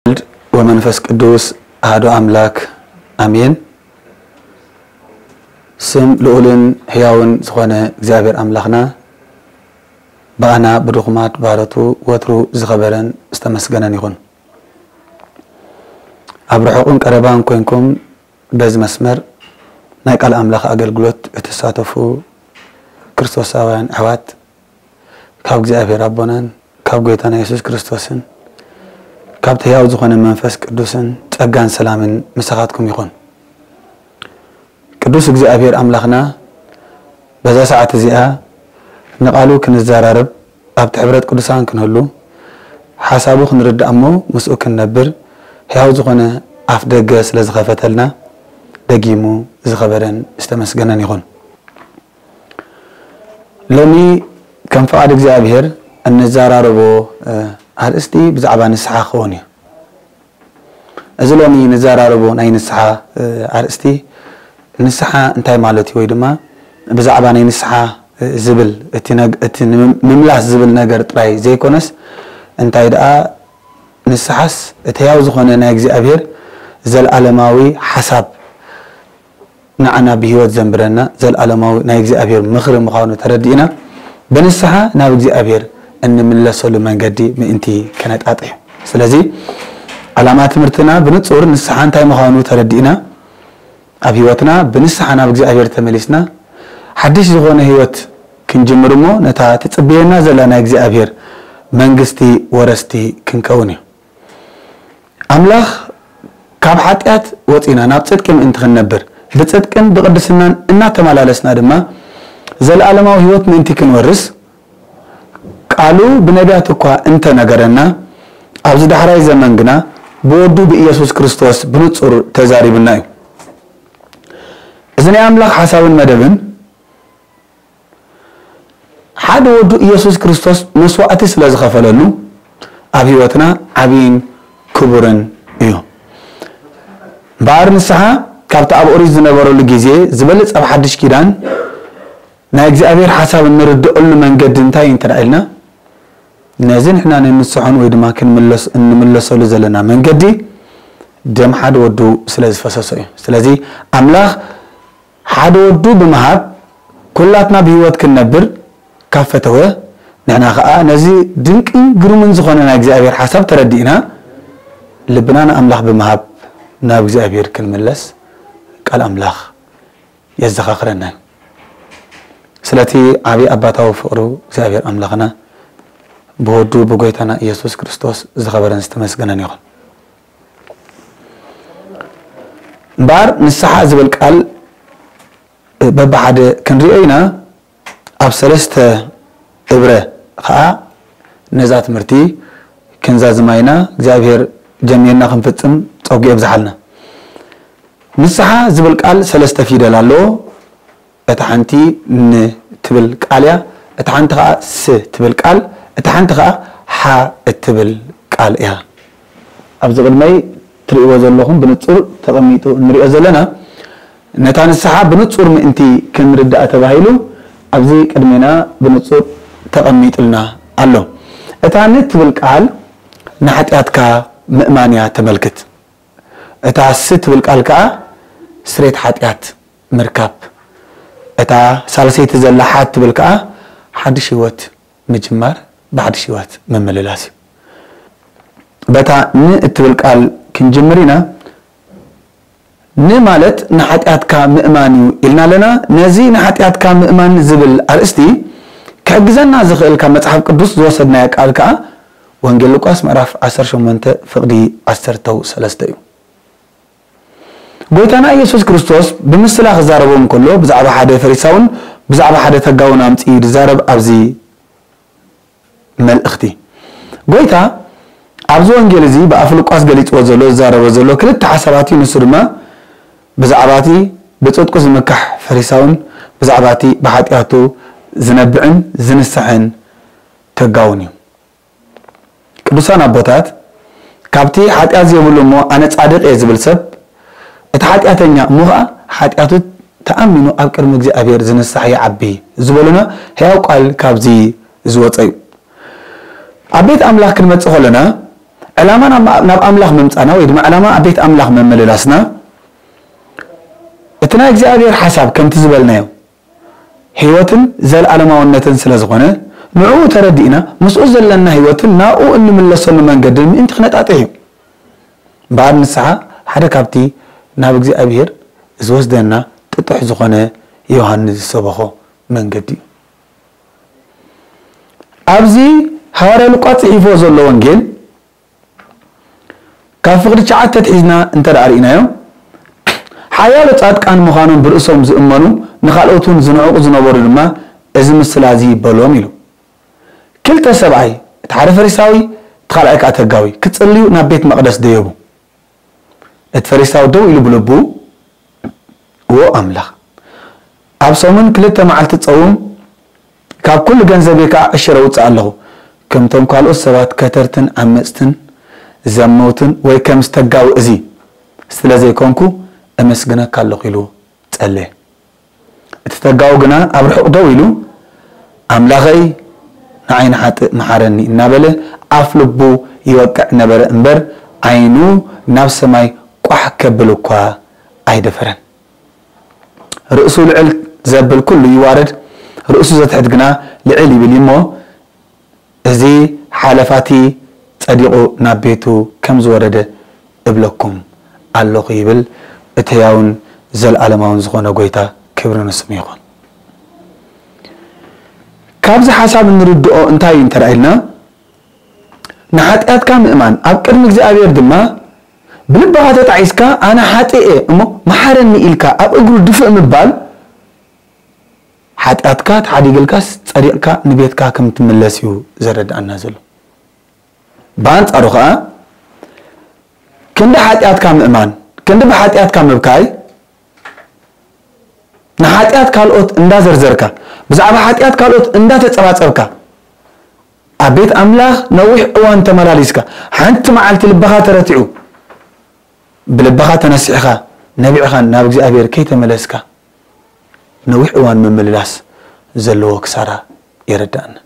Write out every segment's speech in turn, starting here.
ወልድ ወመንፈስ ቅዱስ ኣሐዱ ኣምላክ ኣሜን። ስም ልዑልን ሕያውን ዝኾነ እግዚኣብሔር ኣምላኽና ብኣና ብድኹማት ባሮቱ ወትሩ ዝኸበረን ዝተመስገነን ይኹን። ኣብ ርሑቕን ቀረባን ኮንኩም በዚ መስመር ናይ ቃል ኣምላኽ ኣገልግሎት እትሳተፉ ክርስቶሳውያን ኣሕዋት ካብ እግዚኣብሔር ኣቦናን ካብ ጎይታና የሱስ ክርስቶስን ካብቲ ሕያው ዝኾነ መንፈስ ቅዱስን ጸጋን ሰላምን ምሳኻትኩም ይኹን። ቅዱስ እግዚኣብሔር ኣምላኽና በዛ ሰዓት እዚኣ ንቓሉ ክንዘራረብ ኣብቲ ሕብረት ቅዱሳን ክንህሉ ሓሳቡ ክንርዳእ እሞ ምስኡ ክንነብር ሕያው ዝኾነ ኣፍ ደገ ስለ ዝኸፈተልና ደጊሙ ዝተኸበረን ዝተመስገነን ይኹን። ሎሚ ከም ፍቓድ እግዚኣብሔር እንዘራረቦ ኣርእስቲ ብዛዕባ ንስሓ ክኸውን እዩ። እዚ ሎሚ ንዘራረቦ ናይ ንስሓ ኣርእስቲ ንስሓ እንታይ ማለት እዩ ወይ ድማ ብዛዕባ ናይ ንስሓ ዝብል እቲ ንምምላስ ዝብል ነገር ጥራይ ዘይኮነስ እንታይ ደኣ ንስሓስ እቲ ሕያው ዝኾነ ናይ እግዚኣብሔር ዘለዓለማዊ ሓሳብ ንዓና ብህይወት ዘንብረና ዘለዓለማዊ ናይ እግዚኣብሔር ምኽሪ ምዃኑ ተረዲእና ብንስሓ ናብ እግዚኣብሔር እንምለሰሉ መንገዲ ምእንቲ ከነጣጥሕ እዩ። ስለዚ ዓላማ ትምህርትና ብንጹር ንስሓ እንታይ ምዃኑ ተረዲእና ኣብ ህይወትና ብንስሓ ናብ እግዚኣብሔር ተመሊስና ሓድሽ ዝኾነ ህይወት ክንጅምር እሞ ነታ ትጽበየና ዘላ ናይ እግዚኣብሔር መንግስቲ ወረስቲ ክንከውን እዩ። ኣምላኽ ካብ ሓጢኣት ወጺና ናብ ጽድቂ ምእንቲ ክንነብር ብጽድቅን ብቕድስናን እናተመላለስና ድማ ዘለኣለማዊ ህይወት ምእንቲ ክንወርስ ቃሉ ብነቢያት እኳ እንተነገረና ኣብዚ ዳሕራይ ዘመን ግና ብወዱ ብኢየሱስ ክርስቶስ ብንጹር ተዛሪቡና እዩ። እዚ ናይ ኣምላኽ ሓሳብን መደብን ሓደ ወዱ ኢየሱስ ክርስቶስ መስዋዕቲ ስለ ዝኸፈለሉ ኣብ ህይወትና ዓብይን ክቡርን እዩ። እምበኣር ንስሓ ካብቲ ኣብ ኦሪት ዝነበረሉ ግዜ ዝበልጽ ኣብ ሓድሽ ኪዳን ናይ እግዚኣብሔር ሓሳብ እንርድኣሉ መንገዲ እንታይ እንተ ኢልና ነዚ ንሕና ንንስሖን ወይ ድማ ክንምለስ እንምለሰሉ ዘለና መንገዲ ደም ሓደ ወዱ ስለ ዝፈሰሶ እዩ። ስለዚ ኣምላኽ ሓደ ወዱ ብምሃብ ኩላትና ብህይወት ክንነብር ካብ ፈተወ ንሕና ኸዓ ነዚ ድንቅን ግሩምን ዝኾነ ናይ እግዚኣብሔር ሓሳብ ተረዲእና ልብና ንኣምላኽ ብምሃብ ናብ እግዚኣብሔር ክንምለስ ቃል ኣምላኽ የዘኻኽረና እዩ። ስለቲ ዓብዪ ኣባታዊ ፍቕሩ እግዚኣብሔር ኣምላኽና ብወዱ ብጎይታና ኢየሱስ ክርስቶስ ዝኸበረን ዝተመስገነን ይኹን። እምበኣር ንስሓ ዝብል ቃል በብሓደ ክንሪኦ ኢና። ኣብ ሰለስተ እብረ ኸዓ ነዛ ትምህርቲ ክንዛዝማ ኢና። እግዚኣብሔር ጀሚርና ክንፍጽም ጸጉ የብዝሓልና። ንስሓ ዝብል ቃል ሰለስተ ፊደል ኣለዎ። እታ ሓንቲ ን ትብል ቃል እያ፣ እታ ሓንቲ ኸዓ ስ ትብል ቃል፣ እታ ሓንቲ ኸዓ ሓ እትብል ቃል እያ። ኣብዚ ቅድመይ ትርእይዎ ዘለኹም ብንጹር ተቐሚጡ እንሪኦ ዘለና ነታ ንስሓ ብንጹር ምእንቲ ክንርዳእ ተባሂሉ ኣብዚ ቅድሜና ብንጹር ተቐሚጥልና ኣሎ። እታ ን ትብል ቃል ንሓጢኣትካ ምእማን እያ ተመልክት። እታ ስ ትብል ቃል ከኣ ስሬት ሓጢኣት ምርካብ። እታ ሳልሰይቲ ዘላ ሓ ትብል ከኣ ሓድሽ ህይወት ምጅማር ብሓድሽ ህይወት ምምልላስ እዩ። በታ ን እትብል ቃል ክንጅምር ኢና። ን ማለት ንሓጢኣትካ ምእማን እዩ ኢልና ኣለና። ነዚ ንሓጢኣትካ ምእማን ዝብል ኣርእስቲ ክሕግዘና ዝኽእል ካብ መጽሓፍ ቅዱስ ዝወሰድናዮ ቃል ከኣ ወንጌል ሉቃስ ምዕራፍ ዓሰርተ ሸሞንተ ፍቕዲ ዓሰርተ ሰለስተ እዩ። ጎይታና ኢየሱስ ክርስቶስ ብምስላ ክዛረቦም ከሎ ብዛዕባ ሓደ ፈሪሳውን ብዛዕባ ሓደ ተጋውን ኣምጺኡ ዝዛረብ ኣብዚ መልእኽቲ። ጎይታ ኣብዚ ወንጌል እዚ ብኣፍ ሉቃስ ገሊጽዎ ዘሎ ዝዛረቦ ዘሎ ክልተ ሓሳባት እዩ። ንሱ ድማ ብዛዕባ እቲ ብጽድቁ ዝምካሕ ፈሪሳውን ብዛዕባ እቲ ብሓጢኣቱ ዝነብዕን ዝንስሕን ተጋውን እዩ። ቅዱሳን ኣቦታት ካብቲ ሓጢኣት ዘይብሉ እሞ ኣነ ጻድቕ እየ ዝብል ሰብ እቲ ሓጢኣተኛ እሞ ኸኣ ሓጢኣቱ ተኣሚኑ ኣብ ቅድሚ እግዚኣብሔር ዝንሳሕ ይዓቢ ዝበሉና ሕያው ቃል ካብዚ ዝወፀ እዩ። ኣብ ቤት ኣምላኽ ክንመጽእ ከለና ዕላማ ናብ፣ ናብ ኣምላኽ ምምጻና ወይ ድማ ዕላማ ኣብ ቤት ኣምላኽ መመልላስና፣ እቲ ናይ እግዚኣብሔር ሓሳብ ከምቲ ዝበልናዮ ህይወትን ዘለዓለማውነትን ስለ ዝኾነ፣ ንዕኡ ተረዲእና ምስኡ ዘለና ህይወትን ናብኡ እንምለሰሉ መንገድን ምእንቲ ክነጣጥሕ እዩ። እምበኣር ንስሓ ሓደ ካብቲ ናብ እግዚኣብሔር ዝወስደና ጥጡሕ ዝኾነ ዮሃንስ ዝሰበኾ መንገዲ እዩ። ኣብዚ ሃዋርያ ሉቃስ ጽሒፎ ዘሎ ወንጌል ካብ ፍቕዲ ትሽዓተ ኣትሒዝና እንተ ደኣ ርኢናዮ፣ ሓያሎ ጻድቃን ምዃኖም ብርእሶም ዝእመኑ፣ ንኻልኦት እውን ዝንዕቑ ዝነበሩ ድማ እዚ ምስላ እዚ በሎም ኢሉ። ክልተ ሰብኣይ፣ እቲ ሓደ ፈሪሳዊ፣ እቲ ካልኣይ ከኣ ተጋዊ፣ ክጽልዩ ናብ ቤት መቕደስ ደየቡ። እቲ ፈሪሳዊ ደው ኢሉ ብልቡ፣ "እዎ ኣምላኽ፣ ኣብ ሰሙን ክልተ መዓልቲ ጸውም፣ ካብ ኩሉ ገንዘበይ ከኣ ዕሽር ኣውጽእ ኣለኹ። ከምቶም ካልኦት ሰባት ከተርትን ዓመጽትን ዘመውትን ወይ ከም ዝተጋዊ እዚ ስለ ዘይኮንኩ፣ እመስግነካ ኣለኹ" ኢሉ ጸለየ። እቲ ተጋዊ ግና ኣብ ርሑቕ ደው ኢሉ፣ "ኣምላኸይ፣ ንዓይ ንሓጥእ መሓረኒ" እናበለ ኣፍ ልቡ ይወቅዕ ነበረ እምበር፣ ዓይኑ ናብ ሰማይ ቋሕ ከብል እኳ ኣይደፈረን። ርእሱ ልዕል ዘብል ኩሉ ይዋረድ፣ ርእሱ ዘትሕት ግና ልዕል ይብል እዩ እሞ፣ እዚ ሓለፋቲ ጸዲቑ ናብ ቤቱ ከም ዝወረደ እብለኩም ኣለኹ ይብል እቲ ሕያውን ዘለዓለማውን ዝኾነ ጎይታ፣ ክብሪ ንስሙ ይኹን። ካብዚ ሓሳብ እንርድኦ እንታይ እዩ እንተ ኢልና፣ ንሓጢኣትካ ምእማን፣ ኣብ ቅድሚ እግዚኣብሔር ድማ ብልብኻ ተጣዒስካ፣ "ኣነ ሓጥእ እየ እሞ መሓረኒ" ኢልካ ኣብ እግሩ ድፍእ ምባል፣ ሓጢኣትካ ተሓዲግልካስ ጸዲቕካ ንቤትካ ከም ትምለስ እዩ ዘረድኣና ዘሎ። ብኣንጻሩ ኸኣ፣ ክንዲ ሓጢኣትካ ምእማን፣ ክንዲ ብሓጢኣትካ ምብካይ፣ ንሓጢኣት ካልኦት እንዳዘርዘርካ፣ ብዛዕባ ሓጢኣት ካልኦት እንዳተጸባጸብካ፣ ኣብ ቤት ኣምላኽ ነዊሕ እዋን ተመላሊስካ፣ ሓንቲ መዓልቲ ልብኻ ተረቲዑ፣ ብልብኻ ተነሲሕኻ፣ ነቢዕኻን ናብ እግዚኣብሔር ከይተመለስካ፣ ነዊሕ እዋን ምምልላስ ዘለዎ ክሳራ የረድኣና።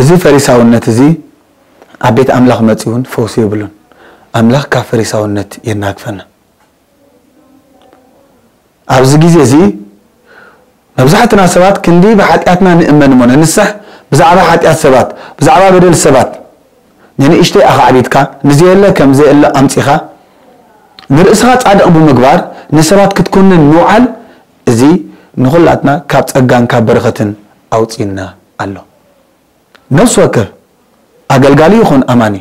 እዚ ፈሪሳውነት እዚ ኣብ ቤት ኣምላኽ መጺኡ እውን ፈውሲ የብሉን። ኣምላኽ ካብ ፈሪሳውነት የናግፈና። ኣብዚ ግዜ እዚ መብዛሕትና ሰባት ክንዲ ብሓጢኣትና ንእመን እሞ ነንስሕ፣ ብዛዕባ ሓጢኣት ሰባት፣ ብዛዕባ በደል ሰባት፣ ንንእሽተይ ኣኻዕቢትካ፣ ንዘየለ ከም ዘየለ ኣምጺኻ፣ ንርእስኻ ጻድቕ ብምግባር ንሰባት ክትኩንን ምውዓል፣ እዚ ንኹላትና ካብ ጸጋን ካብ በረኸትን ኣውጺእና ኣሎ። ነፍሲ ወከፍ ኣገልጋሊ ይኹን ኣማኒ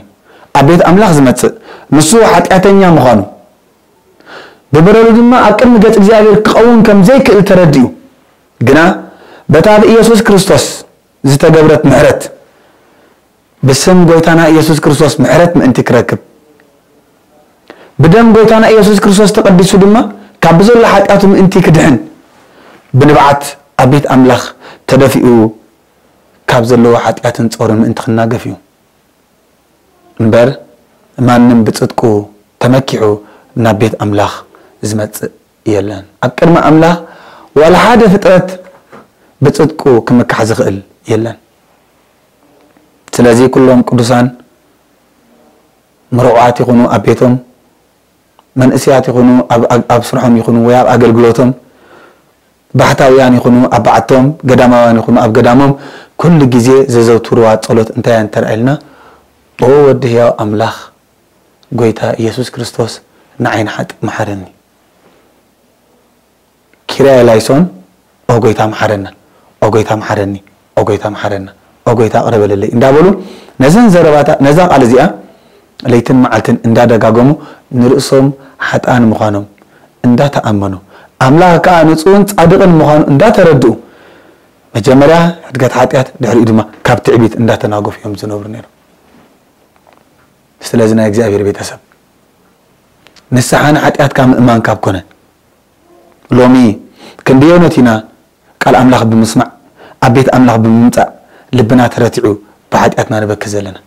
ኣብ ቤት ኣምላኽ ዝመጽእ፣ ንሱ ሓጢኣተኛ ምዃኑ፣ ብበደሉ ድማ ኣብ ቅድሚ ገጽ እግዚኣብሔር ክቐውም ከም ዘይክእል ተረዲኡ፣ ግና በታ ብኢየሱስ ክርስቶስ ዝተገብረት ምሕረት፣ ብስም ጎይታና ኢየሱስ ክርስቶስ ምሕረት ምእንቲ ክረክብ፣ ብደም ጎይታና ኢየሱስ ክርስቶስ ተቐዲሱ ድማ ካብ ብዘሎ ሓጢኣቱ ምእንቲ ክድሕን፣ ብንብዓት ኣብ ቤት ኣምላኽ ተደፊኡ ካብ ዘለዎ ሓጢኣትን ጾርን ምእንቲ ክናገፍ እዩ። እምበር ማንም ብጽድቁ ተመኪሑ ናብ ቤት ኣምላኽ ዝመጽእ የለን። ኣብ ቅድሚ ኣምላኽ ዋላ ሓደ ፍጥረት ብጽድቁ ክምካሕ ዝኽእል የለን። ስለዚ ኩሎም ቅዱሳን ምሩዓት ይኹኑ ኣብ ቤቶም፣ መንእሰያት ይኹኑ ኣብ፣ ኣብ፣ ኣብ ስርሖም ይኹኑ ወይ ኣብ ኣገልግሎቶም፣ ባሕታውያን ይኹኑ ኣብ በዓቶም፣ ገዳማውያን ይኹኑ ኣብ ገዳሞም፣ ኩሉ ግዜ ዘዘውትርዋ ጸሎት እንታይ እያ እንተ ኢልና፣ "ኦ ወዲ ህያው ኣምላኽ፣ ጎይታ ኢየሱስ ክርስቶስ፣ ንዓይ ንሓጥእ መሓረኒ። ኪርያ ኤላይሶን፣ ኦ ጎይታ መሓረና፣ ኦ ጎይታ መሓረኒ፣ ኦ ጎይታ መሓረና፣ ኦ ጎይታ ቅረ በለለይ" እንዳበሉ ነዘን ዘረባታ፣ ነዛ ቃል እዚኣ ለይትን መዓልትን እንዳደጋገሙ ንርእሶም ሓጥኣን ምዃኖም እንዳተኣመኑ፣ ኣምላኽ ከኣ ንጹህን ጻድቕን ምዃኑ እንዳተረድኡ፣ መጀመርያ ሕድገት ሓጢኣት፣ ድሕሪኡ ድማ ካብ ትዕቢት እንዳተናገፉ እዮም ዝነብሩ ነይሮም። ስለዚ ናይ እግዚኣብሔር ቤተሰብ፣ ንስሓ ንሓጢኣትካ ምእማን ካብ ኮነ፣ ሎሚ ክንደየኖት ኢና ቃል ኣምላኽ ብምስማዕ፣ ኣብ ቤት ኣምላኽ ብምምጻእ ልብና ተረቲዑ ብሓጢኣትና ንበኪ ዘለና?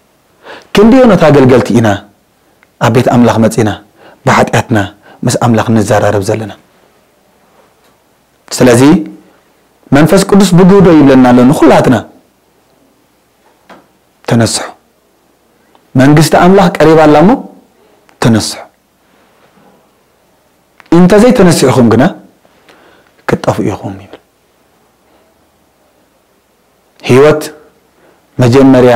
ክንደየኖት ኣገልገልቲ ኢና ኣብ ቤት ኣምላኽ መጺና ብሓጢኣትና ምስ ኣምላኽ ንዘራረብ ዘለና? ስለዚ መንፈስ ቅዱስ ብግህዶ ይብለና ኣሎ ንኹላትና፣ ተነስሑ። መንግስቲ ኣምላኽ ቀሪባ ኣላ እሞ ተነስሑ፣ እንተዘይተነሲሕኹም ግና ክትጠፍኡ ኢኹም ይብል። ህይወት መጀመርያ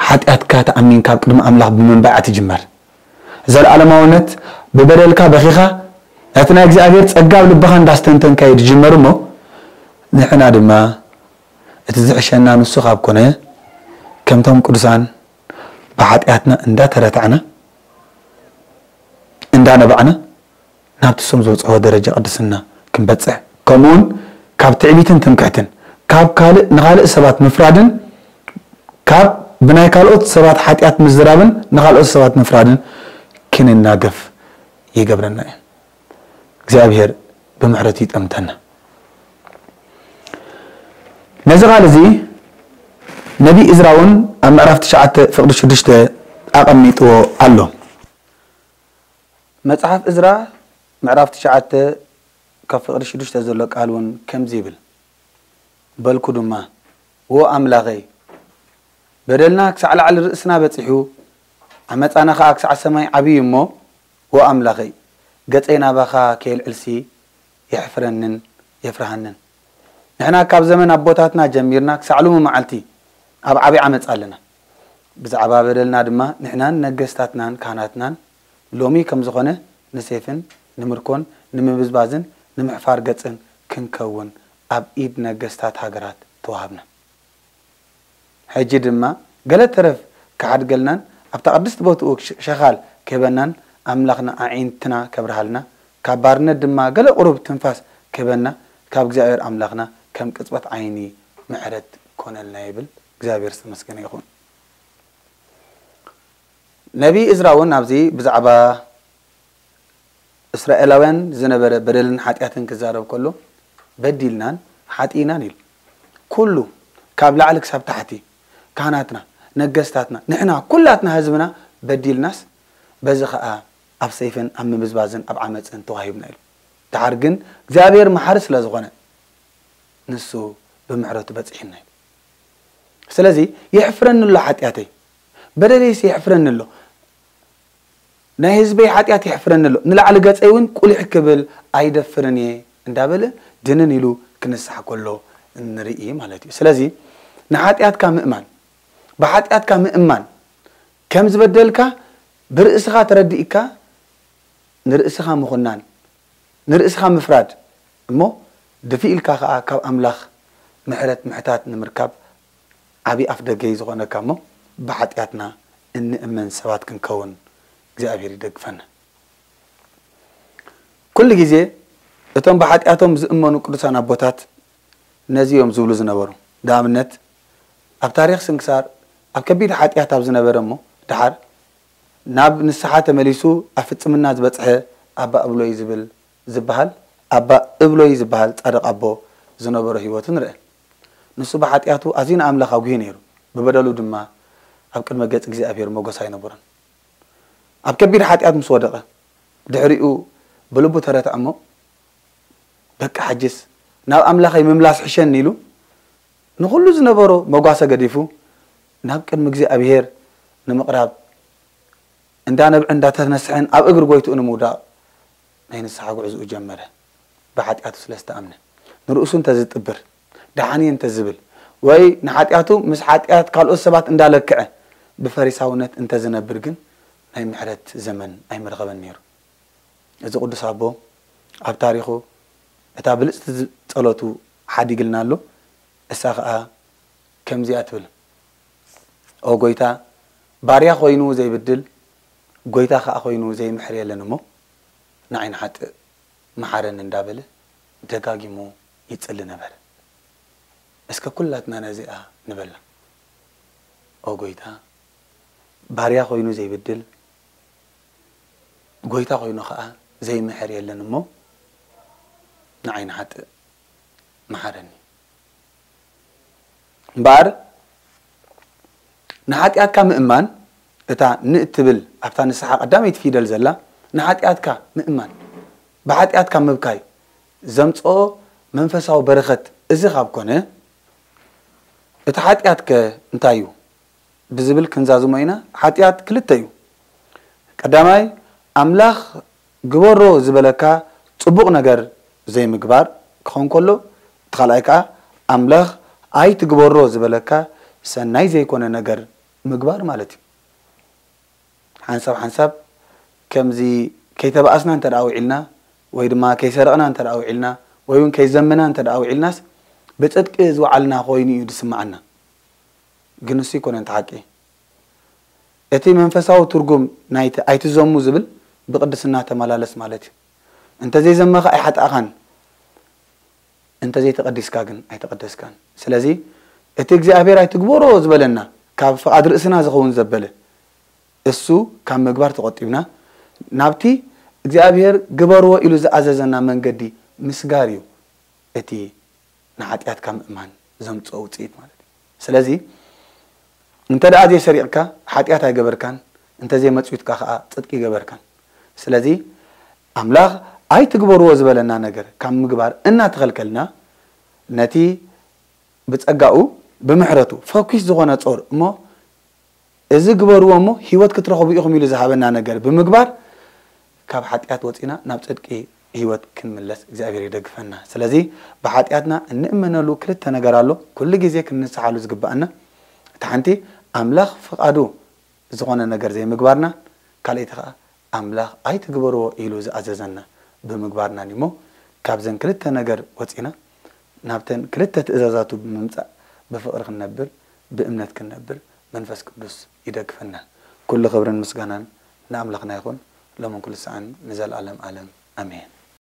ሓጢኣትካ ተኣሚንካ ኣብ ቅድሚ ኣምላኽ ብምንባዕ እያ ትጅመር። ዘለኣለማውነት ብበደልካ በኺኻ ነቲ ናይ እግዚኣብሔር ጸጋ ኣብ ልብኻ እንዳስተንተንካ እዩ ዝጅመር እሞ ንሕና ድማ እቲ ዝሕሸና ንሱ ካብ ኮነ ከምቶም ቅዱሳን ብሓጢኣትና እንዳተረታዕና እንዳነባዕና ናብቲ እሶም ዝበጽሕዎ ደረጃ ቅድስና ክንበጽሕ ከምኡውን ካብ ትዕቢትን ትምክሕትን ካብ ካልእ ንኻልእ ሰባት ምፍራድን ካብ ብናይ ካልኦት ሰባት ሓጢኣት ምዝራብን ንኻልኦት ሰባት ምፍራድን ክንናገፍ ይገብረና እዩ። እግዚኣብሔር ብምሕረቱ ይጠምተና። ነዚ ቃል እዚ ነቢ እዝራ እውን ኣብ ምዕራፍ ትሽዓተ ፍቕዲ ሽዱሽተ ኣቐሚጥዎ ኣሎ። መጽሓፍ እዝራ ምዕራፍ ትሽዓተ ካብ ፍቕዲ ሽዱሽተ ዘሎ ቃል እውን ከምዚ ይብል፣ በልኩ ድማ፣ ዎ ኣምላኸይ፣ በደልና ክሳዕ ላዕሊ ርእስና በጺሑ፣ ዓመጻና ኸኣ ክሳዕ ሰማይ ዓብዩ እሞ፣ ዎ ኣምላኸይ፣ ገጸይ ናባኻ ከየልዕልሲ የሕፍረንን የፍርሃንን። ንሕና ካብ ዘመን ኣቦታትና ጀሚርና ክሳዕ ሎሚ መዓልቲ ኣብ ዓቢ ዓመጽ ኣለና። ብዛዕባ በደልና ድማ ንሕናን ነገስታትናን ካህናትናን ሎሚ ከም ዝኾነ ንሴፍን ንምርኮን ንምብዝባዝን ንምሕፋር ገጽን ክንከውን ኣብ ኢድ ነገስታት ሃገራት ተዋሃብና። ሕጂ ድማ ገለ ተረፍ ክሓድገልናን ኣብታ ቅድስቲ ቦትኡ ሸኻል ክህበናን ኣምላኽና ኣዒንትና ከብርሃልና ካብ ባርነት ድማ ገለ ቁሩብ ትንፋስ ክህበና ካብ እግዚኣብሔር ኣምላኽና ከም ቅጽበት ዓይኒ ምሕረት ኮነልና ይብል። እግዚኣብሔር ዝተመስገነ ይኹን። ነቢ እዝራ እውን ኣብዚ ብዛዕባ እስራኤላውያን ዝነበረ በደልን ሓጢኣትን ክዛረብ ከሎ በዲልናን ሓጢእናን ኢሉ። ኩሉ ካብ ላዕሊ ክሳብ ታሕቲ ካህናትና፣ ነገስታትና፣ ንሕና ኩላትና ህዝብና በዲልናስ በዚ ኸኣ ኣብ ሰይፍን ኣብ ምብዝባዝን ኣብ ዓመፅን ተዋሂብና ኢሉ። ድሓር ግን እግዚኣብሔር መሓሪ ስለ ዝኾነ ንሱ ብምሕረቱ በፂሕና ኢሉ። ስለዚ የሕፍረኒ ኣሎ ሓጢኣተይ፣ በደለይሲ የሕፍረኒ ኣሎ፣ ናይ ህዝበይ ሓጢኣት የሕፍረኒ ኣሎ፣ ንላዕሊ ገፀይ እውን ቁሊሕ ክብል ኣይደፍርን እየ እንዳበለ ድንን ኢሉ ክንስሓ ከሎ ንርኢ ማለት እዩ። ስለዚ ንሓጢኣትካ ምእማን፣ ብሓጢኣትካ ምእማን ከም ዝበደልካ ብርእስኻ ተረዲእካ ንርእስኻ ምኹናን ንርእስኻ ምፍራድ እሞ ድፊ ኢልካ ኸዓ ካብ ኣምላኽ ምሕረት ምሕታት ንምርካብ ዓብዪ ኣፍ ደገ እዩ ዝኾነካ እሞ ብሓጢኣትና እንእመን ሰባት ክንከውን እግዚኣብሔር ይደግፈና። ኩሉ ግዜ እቶም ብሓጢኣቶም ዝእመኑ ቅዱሳን ኣቦታት ነዚ እዮም ዝብሉ ዝነበሩ። ንኣብነት ኣብ ታሪኽ ስንክሳር ኣብ ከቢድ ሓጢኣት ኣብ ዝነበረ እሞ ደሓር ናብ ንስሓ ተመሊሱ ኣብ ፍጽምና ዝበጽሐ ኣባ እብሎይ ዝብል ዝበሃል ኣባ እብሎይ ዝበሃል ጻድቕ ኣቦ ዝነበሮ ህይወቱ ንርአ። ንሱ ብሓጢኣቱ ኣዝዩ ንኣምላኽ ኣጉሂ ነይሩ። ብበደሉ ድማ ኣብ ቅድመ ገጽ እግዚኣብሔር ሞገስ ኣይነበሮን። ኣብ ከቢድ ሓጢኣት ምስ ወደቐ ድሕሪኡ ብልቡ ተረትዐ እሞ በቃ ሕጅስ ናብ ኣምላኸይ ምምላስ ሕሸኒ ኢሉ ንኹሉ ዝነበሮ መጓሰ ገዲፉ ናብ ቅድሚ እግዚኣብሔር ንምቕራብ እንዳነብዐ እንዳተነስሐን ኣብ እግሪ ጎይትኡ ንምውዳቕ ናይ ንስሓ ጉዕዝኡ ጀመረ። ብሓጢኣቱ ስለ ዝተኣምነ ንርእሱ እንተዝጥብር ደሓን እየ እንተዝብል ወይ ንሓጢኣቱ ምስ ሓጢኣት ካልኦት ሰባት እንዳለክዐ ብፈሪሳውነት እንተዝነብር ግን ናይ ምሕረት ዘመን ኣይምረኸበን ነይሩ። እዚ ቅዱስ ኣቦ ኣብ ታሪኹ እታ ብልጽቲ ጸሎቱ ሓዲግልና ኣሎ። እሳ ኸኣ ከምዚኣ ትብል፣ ኦ ጎይታ፣ ባርያ ኮይኑ ዘይብድል፣ ጎይታ ኸኣ ኮይኑ ዘይምሕር የለን እሞ ንዓይ ንሓጥእ መሓረኒ እንዳበለ ደጋጊሙ ይጽሊ ነበረ። እስከ ኩላትና ነዚኣ ንበላ። ኦ ጎይታ፣ ባርያ ኮይኑ ዘይብድል፣ ጎይታ ኮይኑ ኸዓ ዘይምሕር የለን እሞ ንዓይ ንሓጥእ መሓረኒ። እምበኣር ንሓጢኣትካ ምእማን፣ እታ ንእትብል ኣብታ ንስሓ ቀዳመይቲ ፊደል ዘላ ንሓጢኣትካ ምእማን፣ ብሓጢኣትካ ምብካይ ዘምጽኦ መንፈሳዊ በረኸት እዚ ካብ ኮነ፣ እቲ ሓጢኣትከ እንታይ እዩ? ብዝብል ክንዛዝሞ ኢና። ሓጢኣት ክልተ እዩ። ቀዳማይ፣ ኣምላኽ ግበሮ ዝበለካ ጽቡቕ ነገር ዘይምግባር ክኸውን ከሎ፣ እቲ ካልኣይ ከኣ ኣምላኽ ኣይትግበሮ ዝበለካ ሰናይ ዘይኮነ ነገር ምግባር ማለት እዩ። ሓንሳብ ሓንሳብ ከምዚ ከይተባኣስና እንተ ደኣ ውዒልና፣ ወይ ድማ ከይሰረቕና እንተ ደኣ ውዒልና፣ ወይ እውን ከይዘምና እንተ ደኣ ውዒልናስ፣ ብጽድቂ ዝወዓልና ኮይኑ እዩ ዝስምዓና። ግን እሱ ኣይኮነን እቲ ሓቂ። እቲ መንፈሳዊ ትርጉም ናይቲ ኣይትዘሙ ዝብል ብቅድስና ተመላለስ ማለት እዩ። እንተ ዘይዘመኻ ኣይሓጣእኻን፣ እንተ ዘይተቐዲስካ ግን ኣይተቐደስካን። ስለዚ እቲ እግዚኣብሔር ኣይትግበሮ ዝበለና፣ ካብ ፍቓድ ርእስና ዝኸውን ዘበለ፣ እሱ ካብ ምግባር ተቖጢብና ናብቲ እግዚኣብሔር ግበርዎ ኢሉ ዝኣዘዘና መንገዲ ምስጋር እዩ። እቲ ንሓጢኣትካ ምእማን ዘምጽኦ ውጽኢት ማለት እዩ። ስለዚ እንተ ደኣ ዘይሰሪቕካ ሓጢኣት ኣይገበርካን፣ እንተ ዘይመጽዊትካ ከኣ ጽድቂ ኣይገበርካን። ስለዚ ኣምላኽ ኣይትግበርዎ ዝበለና ነገር ካብ ምግባር እናተኸልከልና፣ ነቲ ብጸጋኡ ብምሕረቱ ፈኲስ ዝኾነ ጾር እሞ እዚ ግበርዎ እሞ ህይወት ክትረኽቡ ኢኹም ኢሉ ዝሃበና ነገር ብምግባር ካብ ሓጢኣት ወጺና ናብ ጽድቂ ህይወት ክንምለስ እግዚኣብሔር ይደግፈና። ስለዚ ብሓጢኣትና እንእመነሉ ክልተ ነገር ኣሎ፣ ኩሉ ግዜ ክንንስሓሉ ዝግባኣና። እቲ ሓንቲ ኣምላኽ ፍቓዱ ዝኾነ ነገር ዘይምግባርና፣ ካልኣይቲ ኸኣ ኣምላኽ ኣይትግበርዎ ኢሉ ዝኣዘዘና ብምግባርናን እሞ ካብዘን ክልተ ነገር ወጺና ናብተን ክልተ ትእዛዛቱ ብምምጻእ ብፍቕሪ ክንነብር ብእምነት ክንነብር መንፈስ ቅዱስ ይደግፈና። ኩሉ ክብርን ምስጋናን ንኣምላኽና ይኹን ሎምን ኩሉ ሰዓን ንዘለኣለም ኣለም ኣሜን።